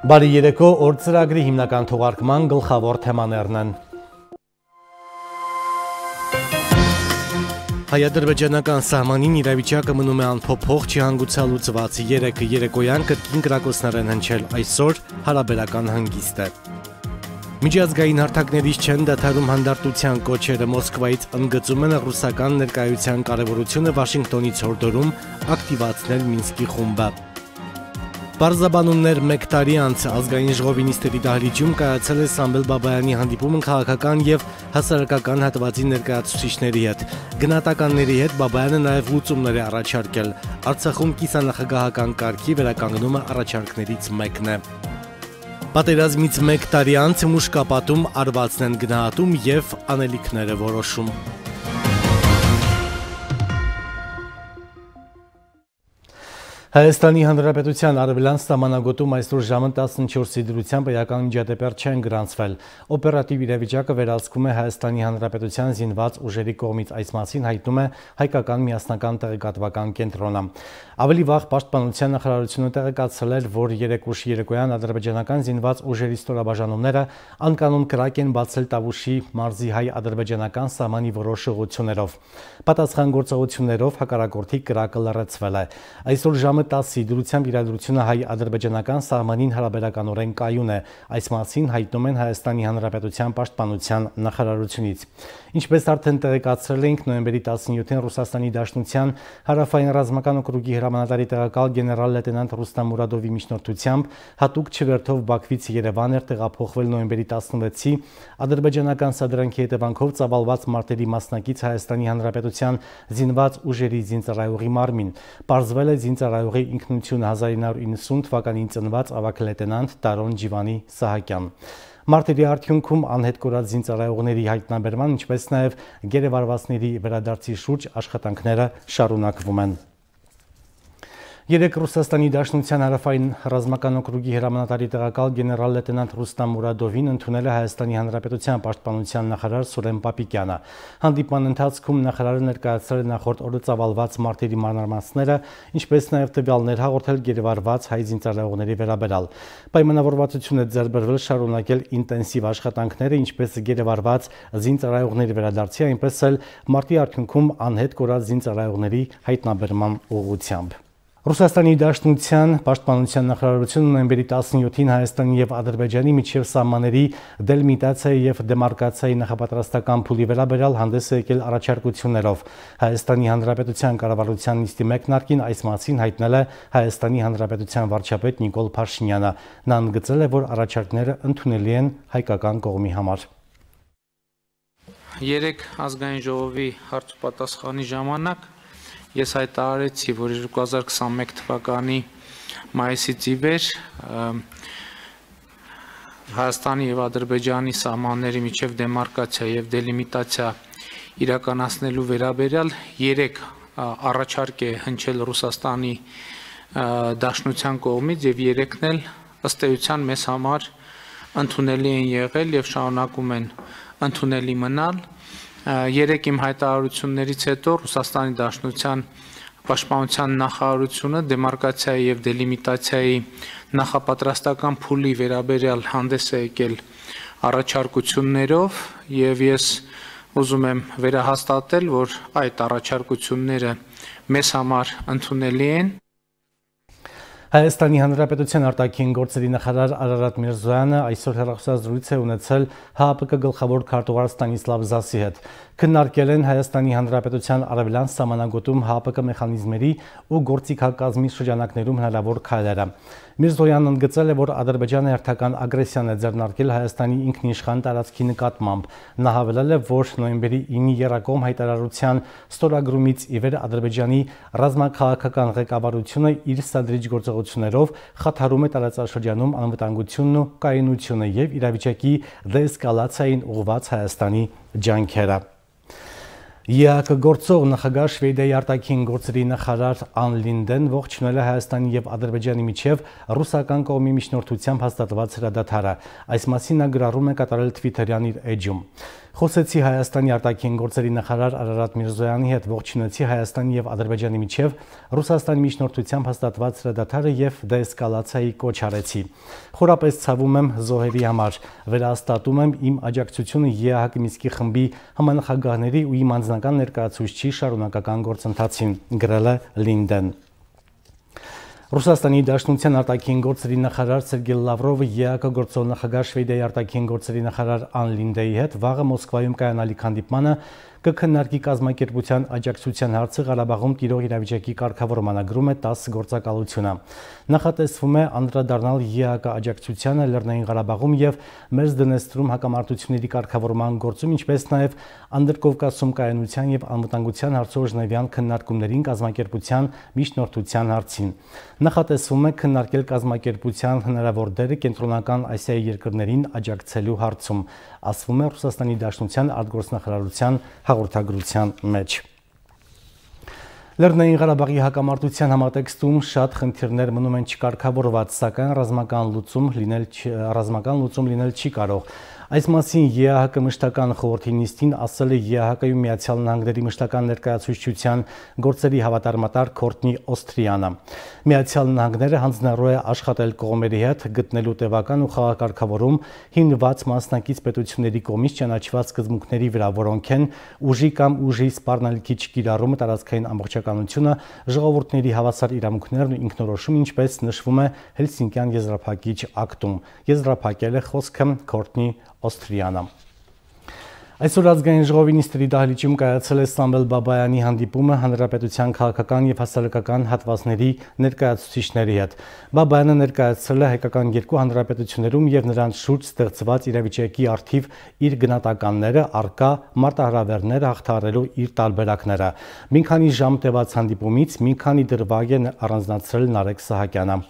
Բարի երեկո, օր ծրագրի հիմնական թողարկման գլխավոր թեմաներն են։ Հայ-ադրբեջանական սահմանին իրավիճակը մնում է անփոփոխ, չհանգուցալուծված, երեկոյան կրկին կրակոցներ են հնչել, այսօր հարաբերական հանգիստ է։ Միջազգային հարթակներից չեն դադարում հանդարտության կոչերը, Մոսկվայից ընդգծում են ռուսական ներկայության կարևորությունը, Վաշինգտոնից հորդորում ակտիվացնել Մինսկի խումբը։ Պարզաբանումներ մեկ տարի անց ազգային ժողովի նիստերի դահլիճում կայացել է Սամվել Բաբայանի հանդիպումը քաղաքական եւ հասարակական հատվածի ներկայացուցիչների հետ։ Գնահատականների հետ Բաբայանը նաեւ լուծումներ է առաջարկել։ Արցախում կիսանախագահական կարգի վերականգնումը առաջարկներից մեկն է։ Պատերազմից մեկ տարի անց մուշկապատում արվածն են գնահատում եւ անելիքները որոշում։ Հայաստանի Հանրապետության արևելյան սահմանագոտում այսօր ժամը 14-ի դրությամբ էական միջադեպեր չեն գրանցվել։ Օպերատիվ իրավիճակը վերահսկում է Հայաստանի Հանրապետության զինված ուժերի կողմից, այս մասին հայտնում է հայկական միասնական տեղեկատվական կենտրոնը։ Ավելի վաղ Պաշտպանության նախարարությունը տեղեկացրել էր, որ երեկոյան ադրբեջանական զինված ուժերի ստորաբաժանումները անկանոն կրակ են բացել Տավուշի մարզի հայ-ադրբեջանական սահմանի որոշ ուղղություններով։ Պատասխան գործողություններով հակառակորդի կրակը լռեցվել է։ Այսօր ժամը 10-ի դրությամբ իրադրությունը հայ-ադրբեջանական սահմանին հարաբերականորեն կայուն է, այս մասին հայտնում են Հայաստանի Հանրապետության պաշտպանության նախարարությունից։ Ինչպես արդեն տեղեկացրել էինք, նոյեմբերի 17-ին Ռուսաստանի Դաշնության հարավային ռազմական օկրուգի հրամանատարի տեղակալ գեներալ լեյտենանտ Ռուստամ Մուրադովի միջնորդությամբ հատուկ չվերթով Բաքվից Երևան էր տեղափոխվել նոյեմբերի 16-ի ադրբեջանական սադրանքի հետևանքով ծավալված մարտերի մասնակից Հայաստանի Հանրապետության զինված ուժերի զինծառայողի մարմին։ Պարզվել է զինծառայողի ինքնությունը 1990 թվականին ծնված ավագ լեյտենանտ Տարոն Ջիվանի Սահակյան։ Մարտերի արդյունքում անհետ կորած զինծառայողների հայտնաբերման, ինչպես նաև գերեվարվածների վերադարձի շուրջ աշխատանքները շարունակվում են։ Երեկ Ռուսաստանի Դաշնության հարավային ռազմական օկրուգի հրամանատարի տեղակալ գեներալ լեյտենանտ Ռուստամ Մուրադովին ընդունել է Հայաստանի Հանրապետության պաշտպանության նախարար Սուրեն Պապիկյանը։ Հանդիպման ընթացքում նախարարը ներկայացրել է նախորդ օրը ծավալված մարտերի մանրամասները, ինչպես նաև տվյալներ հաղորդել գերեվարված հայ զինծառայողների վերաբերյալ։ Պայմանավորվածություն է ձեռք բերվել շարունակել ինտենսիվ աշխատանքները, ինչպես գերեվարված զինծառայողների վերադարձի, այնպես էլ մարտի արդյունքում անհետ կորած զինծառայողների հայտնաբերման ուղղությամբ։ Ռուսաստանի Դաշնության պաշտպանության նախարարությունը նոյեմբերի 17-ին Հայաստանի եւ Ադրբեջանի միջև սահմանների դելիմիտացիայի եւ դեմարկացիայի նախապատրաստական փուլի վերաբերյալ հանդես է եկել առաջարկություններով։ Հայաստանի Հանրապետության կառավարության նիստի մեկնարկին այս մասին հայտնել է Հայաստանի Հանրապետության վարչապետ Նիկոլ Փաշինյանը։ Նա ընդգծել է, որ առաջարկները ընդունելի են հայկական կողմի համար։ Երեք ազգային ժողովի հարց ու պատասխանի ժամանակ ես հայտարարեցի, որ 2021 թվականի մայիսից ի վեր Հայաստանի եւ Ադրբեջանի սահմանների միջև դեմարկացիա եւ դելիմիտացիա իրականացնելու վերաբերյալ 3 առաջարկ է հնչել Ռուսաստանի Դաշնության կողմից եւ 3-ն էլ ըստ էության մեզ համար ընդունելի են եղել եւ շարունակում են ընդունելի մնալ։ Երեք իմ հայտարարություններից հետո Ռուսաստանի Դաշնության պաշտպանության նախարարությունը դեմարկացիայի եւ դելիմիտացիայի նախապատրաստական փուլի վերաբերյալ հանդես է եկել առաջարկություններով եւ ես ուզում եմ վերահաստատել, որ այդ առաջարկությունները մեզ համար ընդունելի են։ Հայաստանի Հանրապետության արտաքին գործերի նախարար Արարատ Միրզոյանը այսօր հեռախոսազրույց է ունեցել ՀԱՊԿ գլխավոր քարտուղար Ստանիսլավ Զասի հետ։ Քննարկել են Հայաստանի Հանրապետության արևելյան սահմանագոտում ՀԱՊԿ մեխանիզմերի ու գործիքակազմի շրջանակներում հնարավոր քայլերը։ Միրզոյանն ընդգծել է, որ Ադրբեջանը հերթական ագրեսիան է ձեռնարկել Հայաստանի ինքնիշխան տարածքի նկատմամբ։ Նա հավելել է, որ նոյեմբերի 9-ի եռակողմ հայտարարության ստորագրումից ի վեր Ադրբեջանի ռազմաքաղաքական ղեկավարությունը իր սադրիչ գործողություններով խաթարում է տարածաշրջանում անվտանգությունն ու կայունությունը եւ իրավիճակի դեէսկալացիային ուղղված Հայաստանի ջանքերը։ ԵԱՀԿ գործող նախագահ Շվեդիայի արտաքին գործերի նախարար Ան Լինդեն ողջունել է Հայաստանի եւ Ադրբեջանի միջև ռուսական կողմի միջնորդությամբ հաստատված հրադադարը։ Այս մասին նա գրառում է կատարել Twitter-յան իր էջում։ Խոսեցի Հայաստանի արտաքին գործերի նախարար Արարատ Միրզոյանի հետ, ողջունեցի Հայաստանի եւ Ադրբեջանի միջև Ռուսաստանի միջնորդությամբ հաստատված հրադադարը եւ դեէսկալացիայի կոչ արեցի։ Խորապես ցավում եմ զոհերի համար, վերահաստատում եմ իմ աջակցությունը ԵԱՀԿ Մինսկի խմբի համանախագահների ու իմ անձնական ներկայացուցչի շարունակական գործընթացին, գրել է Լինդեն։ Ռուսաստանի Դաշնության արտաքին գործերի նախարար Սերգեյ Լավրովը ԵԱՀԿ գործող նախագահ Շվեդիայի արտաքին գործերի նախարար Ան Լինդեի հետ վաղը Մոսկվայում կայանալիք հանդիպմանը կքննարկի կազմակերպության աջակցության հարցը Ղարաբաղում տիրող իրավիճակի կարգավորմանը, գրում է ՏԱՍՍ գործակալությունը։ Նախատեսվում է անդրադառնալ ԵԱՀԿ աջակցությանը Լեռնային Ղարաբաղում եւ Մերձդնեստրում հակամարտությունների կարգավորման գործում, ինչպես նաեւ Անդրկովկասում կայունության եւ անվտանգության հարցով ժնևյան քննարկումներին կազմակերպության միջնորդության հարցին։ Նախատեսվում է քննարկել կազմակերպության հնարավոր դերը Կենտրոնական Ասիայի երկրներին աջակցելու հարցում, ասվում է Ռուսաստանի Դաշնության արտգործնախարարության հաղորդագրության մեջ։ Լեռնային Ղարաբաղի հակամարտության համատեքստում շատ խնդիրներ մնում են չկարգավորված, սակայն ռազմական լուծում լինել չի կարող։ Այս մասին ԵԱՀԿ մշտական խորհրդի նիստին ասել է ԵԱՀԿ-ում Միացյալ Նահանգների մշտական ներկայացուցչության գործերի հավատարմատար Քորտնի Օստրիանը։ Միացյալ Նահանգները հանձնառու է աշխատել կողմերի հետ, գտնելու տևական ու խաղակարգավորում հիմնված մասնակից պետությունների կողմից ճանաչված սկզբունքների վրա, որոնք են ուժի կամ ուժի սպառնալիքի չկիրառումը, տարածքային ամբողջականությունը, ժողովուրդների հավասար իրավունքներն ու ինքնորոշումը, ինչպես նշվում է Հելսինկյան եզրափակիչ ակտում։ Եզրափակել է խոսքը Քորտնի Օստրիանը։ Այսօր ազգային ժողովի նիստերի դահլիճում կայացել է Սամվել Բաբայանի հանդիպումը հանրապետության քաղաքական եւ հասարակական հատվածների ներկայացուցիչների հետ։ Բաբայանը ներկայացրել է հայկական երկու հանրապետություններում եւ նրանց շուրջ ստեղծված իրավիճակի առթիվ իր գնահատականները, առկա մարտահրավերները հաղթահարելու իր տարբերակները։ Մի քանի ժամ տևած հանդիպումից մի քանի դրվագ է առանձնացրել Նարեկ Սահակյանը։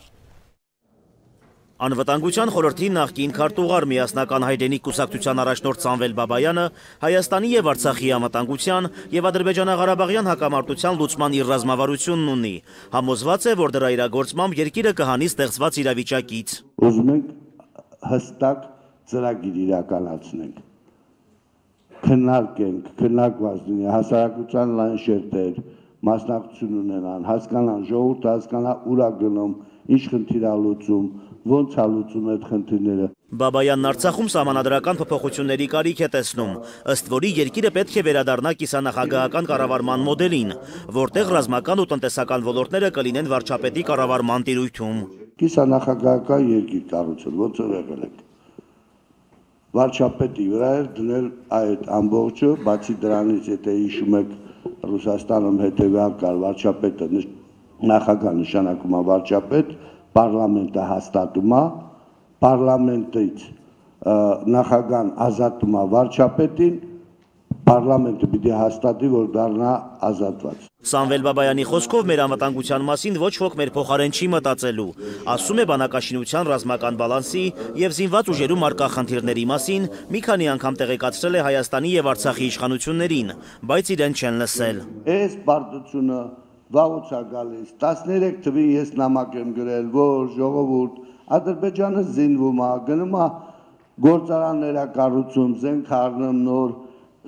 Անվտանգության խորհրդի նախկին քարտուղար միասնական հայրենիք կուսակցության առաջնորդ Սամվել Բաբայանը Հայաստանի եւ Արցախի անվտանգության եւ Ադրբեջանա-Ղարաբաղյան հակամարտության լուծման իր ռազմավարությունն ունի։ Համոզված է, որ դրա իրագործմամբ երկիրը կհանի ստեղծված իրավիճակից։ Ուզում ենք հստակ ծրագիր իրականացնենք։ Քննարկենք, քննարկված լինի հասարակության լայն շերտեր, մասնակցություն ունենան, հասկանան, ժողովուրդը հասկանա ուր է գնում, ինչ խնդիր է լուծում, ոնց է լուծում այդ խնդիրները։ Բաբայանն Արցախում սահմանադրական փոփոխությունների կարիք է տեսնում, ըստ որի երկիրը պետք է վերադառնա կիսանախագահական կառավարման մոդելին, որտեղ ռազմական ու տնտեսական ոլորտները կլինեն վարչապետի կառավարման տիրույթում։ Կիսանախագահական երկիր կառուցել, ոնց որ եղել է։ Վարչապետի վրա էր դնել այդ ամբողջը, բացի դրանից, եթե հիշում եք, Ռուսաստանում հետևյալ կար վարչապետը նախագահ նշանակում է վարչապետ, պարլամենտը հաստատում է, պարլամենտից նախագահն ազատում է վարչապետին, պարլամենտը պիտի հաստատի, որ դառնա ազատված։ Սամվել Բաբայանի խոսքով մեր անվտանգության մասին ոչ ոք մեր փոխարեն չի մտածելու, ասում է բանակաշինության ռազմական բալանսի եւ զինված ուժերում առկա խնդիրների մասին մի քանի անգամ տեղեկացրել է Հայաստանի եւ Արցախի իշխանություններին, բայց իրեն չեն լսել։ Այս բարդությունը վաղուց է գալիս, 13 թվին ես նամակ եմ գրել, որ ժողովուրդ Ադրբեջանը զինվում է, գնում է գործարաններ կառուցում, զենք առնում նոր,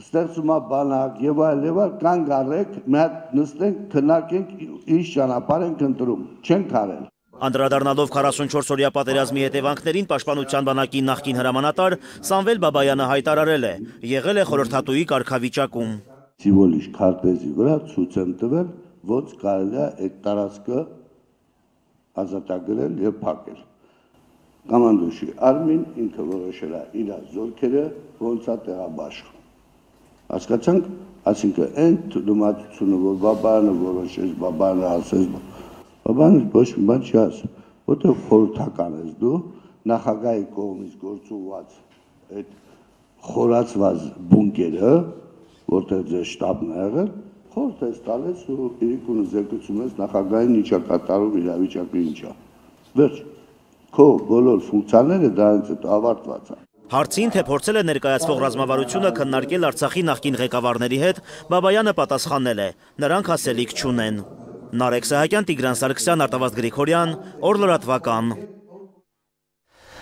ստեղծում է բանակ եւ այլ, կանգ առեք, մի հատ նստենք, քննարկենք, ինչ ճանապարհ ենք ընտրում, չենք արել։ Անդրադառնալով 44-օրյա պատերազմի հետևանքներին Պաշտպանության բանակի նախկին հրամանատար Սամվել Բաբայանը հայտարարել է, եղել է խորհրդատուի կարգավիճակում։ Սիմվոլիկ քարտեզի վրա ցույց եմ տվել, ոնց կարելի է այդ տարածքը ազատագրել եւ փակել։ Կոմանդոյի Արմին ինքը որոշել է իր զորքերը ոնց է տեղաբաշխում։ Հասկացանք, այսինքն այն դիմացությունը, որ Բաբայանը որոշեց, Բաբայանը ասեց, Բաբայանը ոչ մի բան չի ասում, որտեղ խորհրդական ես դու, նախագահի կողմից գործուված այդ խորացված բունկերը, որտեղ ձեր շտաբն է եղել, խորհուրդ ես տալիս ու իրիկունը զեկուցում ես նախագահին ինչա կատարում իրավիճակը ինչա։ Վերջ, քո բոլոր ֆունկցիաները դրանից հետո ավարտված են։ Հարցին, թե փորձել է ներկայացվող ռազմավարությունը քննարկել Արցախի նախկին ղեկավարների հետ, Բաբայանը պատասխանել է. նրանք ասելիք չունեն։ Նարեկ Սահակյան, Տիգրան Սարգսյան, Արտավազդ Գրիգորյան, Օր լրատվական։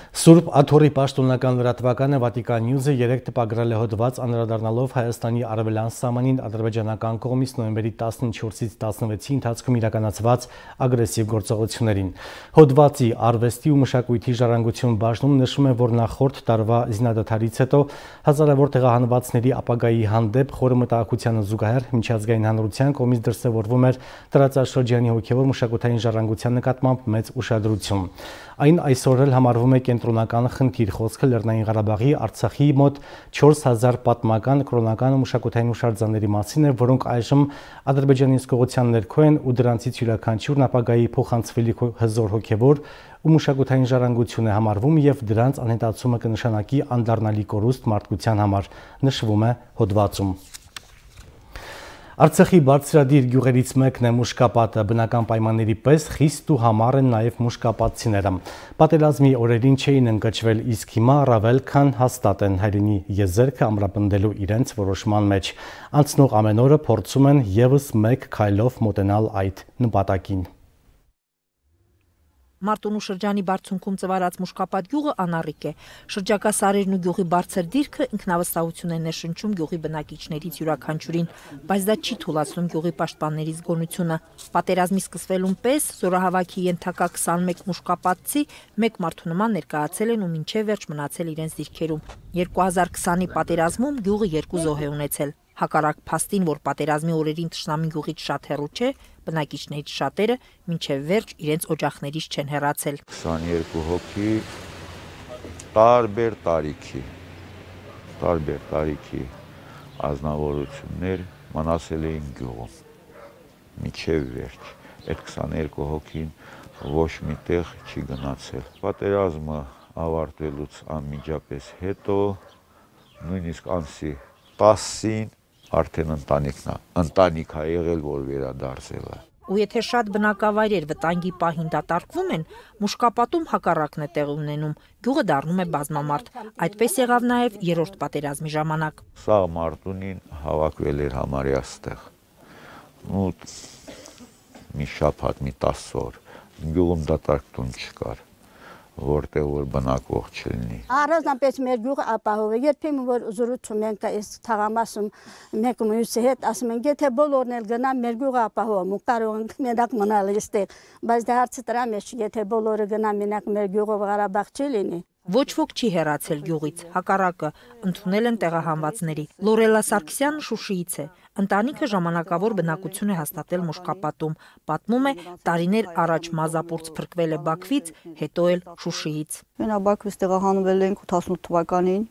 Սուրբ Աթոռի պաշտոնական լրատվականը Վատիկան Նյուզը 3 տպագրել է հոդված անդրադառնալով Հայաստանի արևելյան սահմանին ադրբեջանական կողմից նոյեմբերի 14-ից 16-ի ընթացքում իրականացված ագրեսիվ գործողություններին։ Հոդվածի արվեստի ու մշակույթի ժառանգություն բաժնում նշում է, որ նախորդ տարվա զինադադարից հետո հազարավոր տեղահանվածների ապագայի հանդեպ խորը մտահոգությանը զուգահեռ միջազգային հանրության կողմից դրսևորվում էր տարածաշրջանի հոգևոր մշակութային ժառանգության նկատմամբ մեծ ուշադրություն։ Այն այսօր էլ համարվում է կենտրոնական խնդիր, խոսքը Լեռնային Ղարաբաղի, Արցախի մոտ 4000 պատմական, կրոնական ու մշակութային հուշարձանների մասին է, որոնք այժմ Ադրբեջանի իսկողության ներքո են ու դրանցից յուրաքանչյուրն ապագայի փոխանցվելիք հզոր հոգևոր ու մշակութային ժառանգություն է համարվում եւ դրանց անհետացումը կնշանակի անդառնալի կորուստ մարդկության համար, նշվում է հոդվածում։ Արցախի բարձրադիր գյուղերից մեկն է Մուշկապատը, բնական պայմանների պես խիստ ու համառ են նաև մուշկապատցիները։ Պատերազմի օրերին չէին ընկճվել, իսկ հիմա առավել քան հաստատ են հայրենի եզերքը ամրապնդելու իրենց որոշման մեջ։ Անցնող ամեն օրը փորձում են եւս մեկ քայլով մոտենալ այդ նպատակին։ Մարտունու շրջանի բարձունքում ծվարած Մուշկապատ գյուղը անառիկ է։ Շրջակա սարերն ու գյուղի բարձր դիրքը ինքնավստահություն է ներշնչում գյուղի բնակիչներից յուրաքանչյուրին, բայց դա չի թուլացնում գյուղի պաշտպանների զգոնությունը։ Պատերազմի սկսվելուն պես զորահավաքի ենթակա 21 մուշկապատցի մեկ մարդու նման ներկայացել են ու մինչև վերջ մնացել իրենց դիրքերում։ 2020-ի պատերազմում գյուղը 2 զոհ է ունեցել։ Հակառակ փաստին, որ պատերազմի օրերին թշնամի գյուղից շատ հեռու չէ, բնակիչներից շատերը մինչև վերջ իրենց օջախներից չեն հեռացել։ 22 հոգի տարբեր տարիքի ազնվորություններ մնացել էին գյուղում մինչև վերջ։ Այդ 22 հոգին ոչ մի տեղ չի գնացել։ Պատերազմը ավարտվելուց անմիջապես հետո, նույնիսկ ամսի 10-ին արդեն ընտանիք է եղել, որ վերադարձել է։ Ու եթե շատ բնակավայրեր վտանգի պահին դատարկվում են, Մուշկապատում հակառակն է տեղի ունենում, գյուղը դառնում է բազմամարդ։ Այդպես եղավ նաև երրորդ պատերազմի ժամանակ։ Սաղ Մարտունին հավաքվել էր համարյա ստեղ։ Ու մի շաբաթ, մի 10 օր գյուղում դատարկություն չկար, որտեղ որ բնակվող չլինի։ Առանձնապես մեր գյուղը ապահով է, երբեմն որ զրուցում ենք այս թաղամասում մեկ մյուսի հետ, ասում են, եթե բոլորն էլ գնան, մեր գյուղը ապահով է, կարող ենք մենակ մնալ այստեղ, բայց դա հարցը դրա մեջ չի, եթե բոլորը գնան, մենակ մեր գյուղով Ղարաբաղ չի լինի։ Ոչ ոք չի հեռացել գյուղից, հակառակը ընդունել են տեղահանվածների։ Լորելա Սարգսյանը Շուշիից է։ Ընտանիքը ժամանակավոր բնակություն է հաստատել Մուշկապատում։ Պատմում է, տարիներ առաջ մազապուրց փրկվել է Բաքվից, հետո էլ Շուշիից։ Մենակ Բաքվից տեղահանվել ենք 88 թվականին,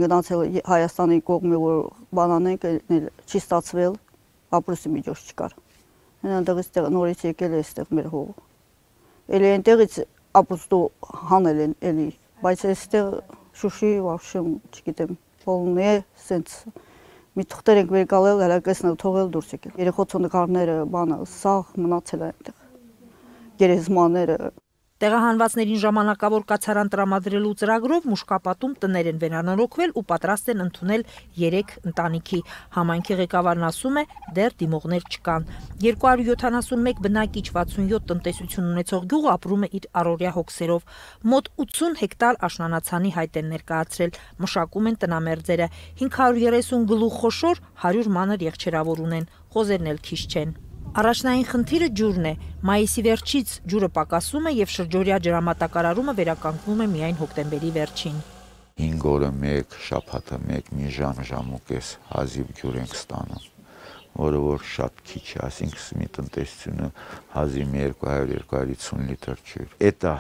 գնացել Հայաստանի կողմի, որ բանանենք, չի ստացվել, ապրուստի միջոց չկար։ Այնտեղից նորից եկել է այստեղ մեր հողը։ Էլի այնտեղից ապուստու հանել են էլի, բայց այստեղ Շուշի վավշեմ, չգիտեմ, բոլն է, սենց մի թղթեր ենք վերկալել, հելակեսնել թողել դուրս եկել։ Երեխոցու նկարները, բանը, սաղ մնացել է այնտեղ, գերեզմաները։ Տեղահանվածներին ժամանակավոր կացարան տրամադրելու ծրագրով Մուշկապատում տներ են վերանորոգվել ու պատրաստ են ընդունել 3 ընտանիքի։ Համայնքի ղեկավարն ասում է, դեռ դիմողներ չկան։ 271 բնակիչ 67 տնտեսություն ունեցող գյուղը ապրում է իր առօրյա հոգսերով։ Մոտ 80 հեկտար աշնանացանի հայտ են ներկայացրել, մշակում են տնամերձերը, 530 գլուխ խոշոր, 100 մանր եղջերավոր ունեն, խոզերն էլ քիչ չեն։ Առաջնային խնդիրը ջուրն է։ Մայիսի վերջից ջուրը պակասում է եւ շրջօրյա ջրամատակարարումը վերականգնվում է միայն հոկտեմբերի վերջին։ 5 օրը մեկ, շաբաթը մեկ, մի ժամ-ժամուկես հազիվ ջուր ենք ստանում, որը որ շատ քիչ է, այսինքն մի տնտեսությունը հազիվ 200-250 լիտր ջուր։ Էտա,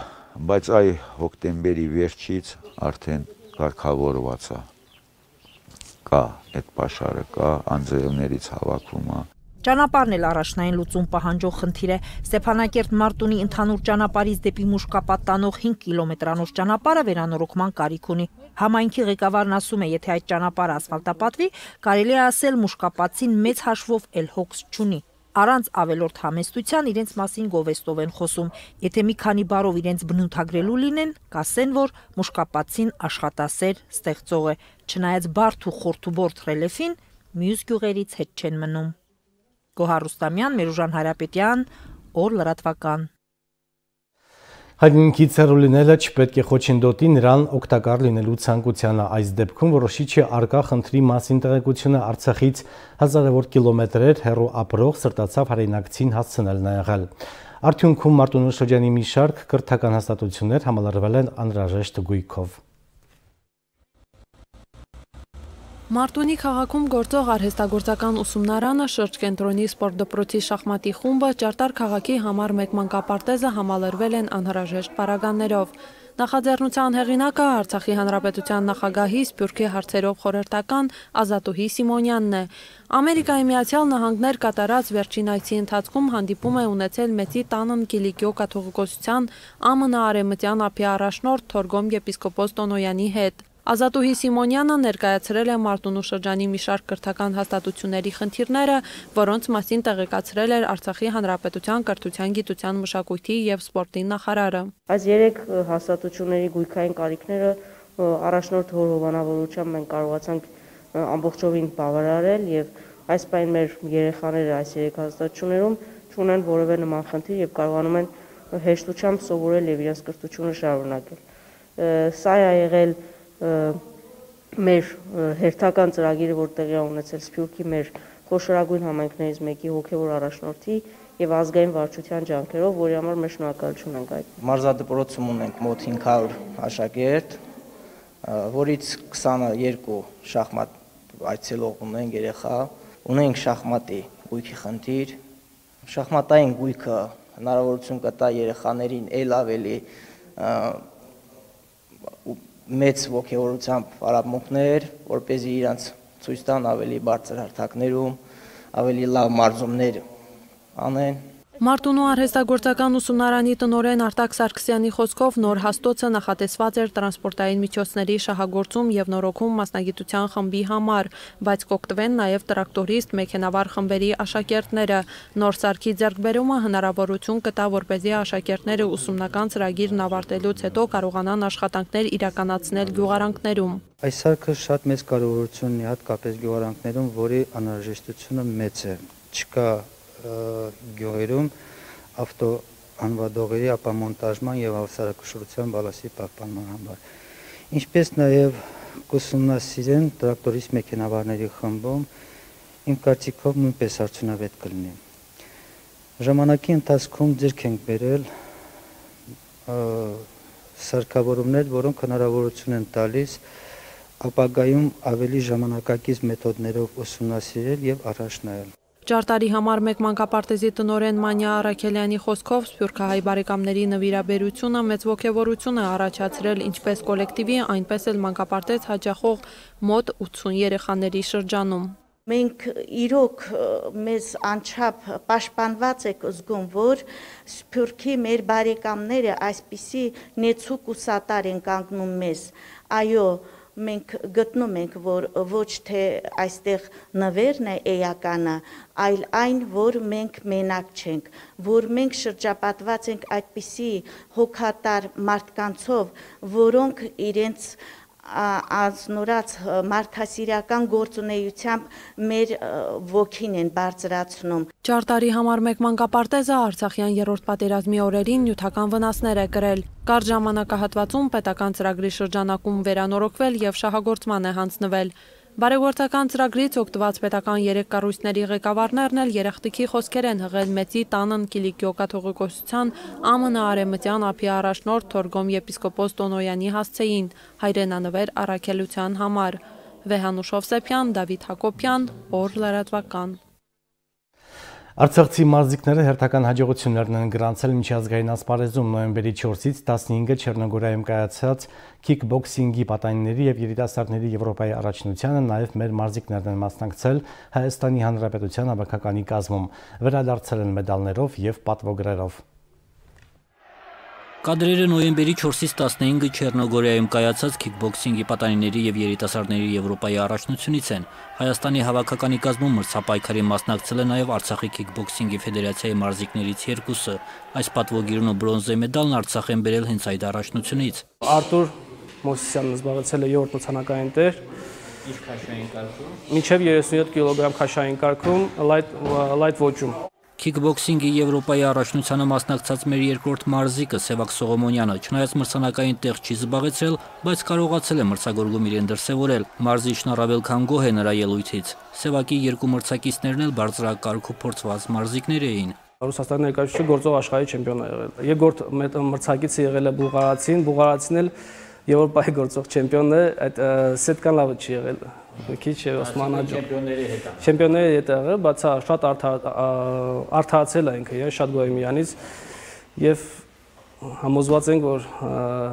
բայց այ հոկտեմբերի վերջից արդեն կարգավորված է։ Կա այդ պաշարը, կա անձրևներից հավաքվում է։ Ճանապարհն էլ առաջնային լուծում պահանջող խնդիր է։ Ստեփանակերտ-Մարտունի ընդհանուր ճանապարհից դեպի Մուշկապատ տանող 5 կիլոմետրանոց ճանապարհը վերանորոգման կարիք ունի։ Համայնքի ղեկավարն ասում է, եթե այդ ճանապարհը ասֆալտապատվի, կարելի է ասել Մուշկապատցին մեծ հաշվով էլ հոգս չունի։ Առանց ավելորդ համեստության իրենց մասին գովեստով են խոսում։ Եթե մի քանի բառով իրենց բնութագրելու լինեն, կասեն, որ մուշկապացին աշխատասեր ստեղծող է, չնայած բարդ ու խորթուբորդ ռելիեֆին մյուս գյուղերից հետ չեն մնում։ Գոհար Ռուստամյան, Մերուժան Հարապետյան, Օր լրատվական։ Հայրենիքից հեռու լինելը չպետք է խոչընդոտի նրան օգտակար լինելու ցանկությանը։ Այս դեպքում որոշիչ է առկա խնդրի մասին տեղեկությունը Արցախից հազարավոր կիլոմետրեր հեռու ապրող սրտացավ հայրենակցին հասցնելն է եղել։ Արդյունքում Մարտունու շրջանի մի շարք կրթական հաստատություններ համալրվել են անհրաժեշտ գույքով։ Մարտունի քաղաքում գործող արհեստագործական ուսումնարանը, շրջկենտրոնի սպորտ դպրոցի շախմատի խումբը, Ճարտար քաղաքի համար մեկ մանկապարտեզը համալրվել են անհրաժեշտ պարագաներով։ Նախաձեռնության հեղինակը Արցախի Հանրապետության նախագահի Սփյուռքի հարցերով խորհրդական Ազատուհի Սիմոնյանն է։ Ամերիկայի Միացյալ Նահանգներ կատարած վերջին այցի ընթացքում հանդիպում է ունեցել Մեծի Տանն Կիլիկիո կաթողիկոսության ԱՄՆ արևմտյան ափի առաջնորդ Թորգոմ եպիսկոպոս Տոնոյանի հետ։ Ազատուհի Սիմոնյանը ներկայացրել է Մարտունու շրջանի մի շարք կրթական հաստատությունների խնդիրները, որոնց մասին տեղեկացրել էր Արցախի Հանրապետության կրթության, գիտության, մշակույթի և սպորտի նախարարը։ Այս 3 հաստատությունների գույքային կարիքները առաջնորդ Հոր հովանավորությամբ մենք կարողացանք ամբողջովին բավարարել եւ այս պայն մեր երեխաները այս 3 հաստատություններում չունեն որևէ նման խնդիր եւ կարողանում են հեշտությամբ սովորել եւ իրենց կրթությունը շարունակել։ Սա է եղել մեր հերթական ծրագիրը, որ տեղի է ունեցել Սփյուռքի մեր խոշորագույն համայնքներից մեկի հոգևոր առաջնորդի եւ ազգային վարչության ջանքերով, որի համար մեր շնորհակալություն ենք այդ։ Մարզադպրոցում ունենք մոտ 500 աշակերտ, որից 22 շախմատ այցելող ունենք երեխա, ունենք շախմատի գույքի խնդիր։ Շախմատային գույքը հնարավորություն կտա երեխաներին ել ավելի մեծ ոգևորությամբ արաբմունքներ, որպեսզի իրանց ցույց տան ավելի բարձր հարթակներում, ավելի լավ մարզումներ անեն։ Մարտունու արհեստագործական ուսումնարանի տնօրեն Արտակ Սարգսյանի խոսքով նոր հաստոցը նախատեսված էր տրանսպորտային միջոցների շահագործում և նորոգում մասնագիտության խմբի համար, բայց կօգտվեն նաև տրակտորիստ, մեքենավար խմբերի աշակերտները։ Նոր սարքի ձեռքբերումը հնարավորություն կտա, որպեսզի աշակերտները ուսումնական ծրագիրն ավարտելուց հետո կարողանան աշխատանքներ իրականացնել գյուղարանքներում։ Այս սարքը շատ մեծ կարևորություն ունի հատկապես գյուղարանքներում, որի անհրաժեշտությունը մեծ է։ Չկա գյուղերում ավտո անվադողերի ապամոնտաժման և հավասարակշռության բալասի պահպանման համար։ Ինչպես նաև կուսումնասիրեն տրակտորիստ մեքենավարների խմբում, իմ կարծիքով նույնպես արդյունավետ կլինի։ Ժամանակի ընթացքում ձեռք ենք բերել սարքավորումներ, որոնք հնարավորություն են տալիս ապագայում ավելի ժամանակակից մեթոդներով ուսումնասիրել և առաջ նայել։ Ճարտարի համար մեկ մանկապարտեզի տնօրեն Մանյա Արաքելյանի խոսքով սփյուռքահայ բարեկամների նվիրաբերությունը մեծ ոգևորություն է առաջացրել ինչպես կոլեկտիվի, այնպես էլ մանկապարտեզ հաճախող մոտ 80 երեխաների շրջանում։ Մենք իրոք մեզ անչափ պաշտպանված եք զգում, որ Սփյուռքի մեր բարեկամները այսպիսի նեցուկ ու սատար են կանգնում մեզ։ Այո, մենք գտնում ենք, որ ոչ թե այստեղ նվերն է էականը, այլ այն, որ մենք մենակ չենք, որ մենք շրջապատված ենք այդպիսի հոգատար մարդկանցով, որոնք իրենց անձնորած մարդասիրական գործունեությամբ մեր ոգին են բարձրացնում։ Ճարտարի համար մեկ մանկապարտեզը Արցախյան երրորդ պատերազմի օրերին նյութական վնասներ է կրել։ Կարճ ժամանակահատվածում պետական ծրագրի շրջանակում վերանորոգվել և շահագործման է հանձնվել։ Բարեգործական ծրագրից օգտված պետական 3 կառույցների ղեկավարներն էլ երախտիկի խոսքեր են հղել Մեծի Տանն Կիլիկիո կաթողիկոսության ԱՄՆ արևմտյան ափի առաջնորդ Թորգոմ եպիսկոպոս Տոնոյանի հասցեին հայրենանվեր առաքելության համար։ Վեհանուշ Հովսեփյան, Դավիթ Հակոբյան, Օր լրատվական։ Արցախցի մարզիկները հերթական հաջողություններն են գրանցել միջազգային ասպարեզում նոյեմբերի 4-ից 15-ը Չեռնոգորիայում կայացած քիքբոքսինգի պատանիների և երիտասարդների Եվրոպայի առաջնությանը, նաև մեր մարզիկներն են մասնակցել Հայաստանի Հանրապետության հավաքականի կազմում, վերադարձել են մեդալներով և պատվոգրերով։ Կադրերը նոյեմբերի 4-ից 15-ը Չեռնոգորիայում կայացած քիքբոքսինգի պատանիների եւ երիտասարդների Եվրոպայի առաջնությունից են։ Հայաստանի հավաքականի կազմում մրցապայքարի մասնակցել է նաեւ Արցախի քիքբոքսինգի ֆեդերացիայի մարզիկներից երկուսը։ Այս պատվոգիրն ու բրոնզե մեդալն Արցախ են բերել հենց այդ առաջնությունից։ Արտուր Մոսիսյանն զբաղեցել է 7-րդ մրցանակային տեր։ Ինչ քաշային կարգում։ Մինչև 37 կիլոգրամ քաշային կարգում լայթ ոճում։ Քիքբոքսինգի Եվրոպայի առաջնությանը մասնակցած մեր երկրորդ մարզիկը Սևակ Սողոմոնյանը չնայած մրցանակային տեղ չի զբաղեցրել, բայց կարողացել է մրցագործում իրեն դրսևորել։ Մարզիչն առավել քան գոհ է նրա ելույթից։ Սևակի երկու մրցակիցներն էլ բարձրակարգու փորձված մարզիկներ էին։ Ռուսաստանի ներկայացուցիչ գործող աշխարհի չեմպիոն է եղել։ Երկրորդ մրցակիցը եղել է Բուլղարացին էլ Եվրոպայի գործող չեմպիոնն է, այդ Սետկան լավը չի եղել։ Քիչ է Օսմանաջը։ Չեմպիոնների հետ եղել, բայց շատ արդարացել է ինքը, շատ գոհ եմ իրանից եւ համոզված ենք, որ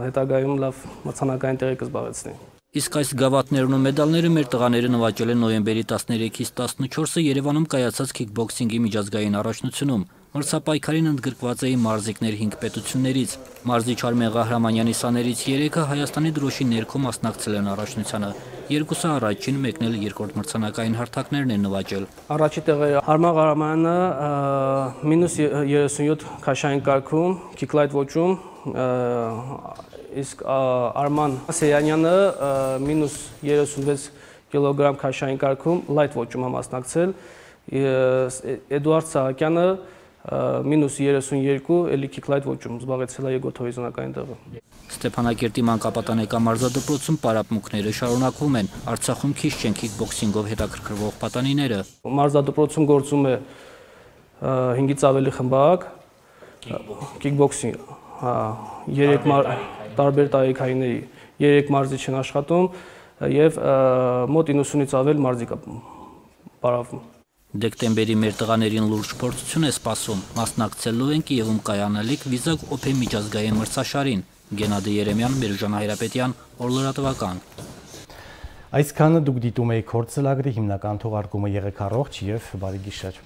հետագայում լավ մրցանակային տեղի կզբաղեցնի։ Իսկ այս գավաթներն ու մեդալները մեր տղաները նվաճել են նոյեմբերի 13-ից 14-ը Երևանում կայացած քիքբոքսինգի միջազգային առաջնությունում։ Մրցապայքարին ընդգրկված էին մարզիկներ 5 պետություններից։ Մարզիչ Արմեն Ղահրամանյանի սաներից 3-ը Հայաստանի դրոշի ներքո մասնակցել են առաջնությանը։ Երկուսը առաջին, մեկն էլ երկրորդ մրցանակային հարթակներն են նվաճել։ Առաջի տեղը Արմեն Ղահրամանյանը -37 քաշային կարգում, քիքլայթ ոճում, իսկ Արման Սեյանյանը -36 կիլոգրամ քաշային կարգում լայթ ոճում է մասնակցել, Էդուարդ Սահակյանը -32 էլի քիքլայթ ոճում զբաղեցել է երկրորդ հորիզոնական տեղը։ Ստեփանակերտի մանկապատանեկան մարզադպրոցում պարապմունքները շարունակվում են։ Արցախում քիչ չեն քիքբոքսինգով հետաքրքրվող պատանիները։ Մարզադպրոցում գործում է 5-ից ավելի խմբակ քիքբոքսինգ, 3 տարբեր տարիքայինների 3 մարզիչ են աշխատում եւ մոտ 90-ից ավել մարզիկ է պարապվում։ Դեկտեմբերի մեր տղաներին լուրջ փորձություն է սպասում։ Մասնակցելու են Կիևում կայանալիք Վիզակ Օփեն միջազգային մրցաշարին։ Գենադի Երեմյան, Մերժան Հայրապետյան, Օրլրատվական։ Այսքանը դուք դիտում եք Քորձ ծրագրի հիմնական թողարկումը, եղեք առողջ եւ բարի գիշեր։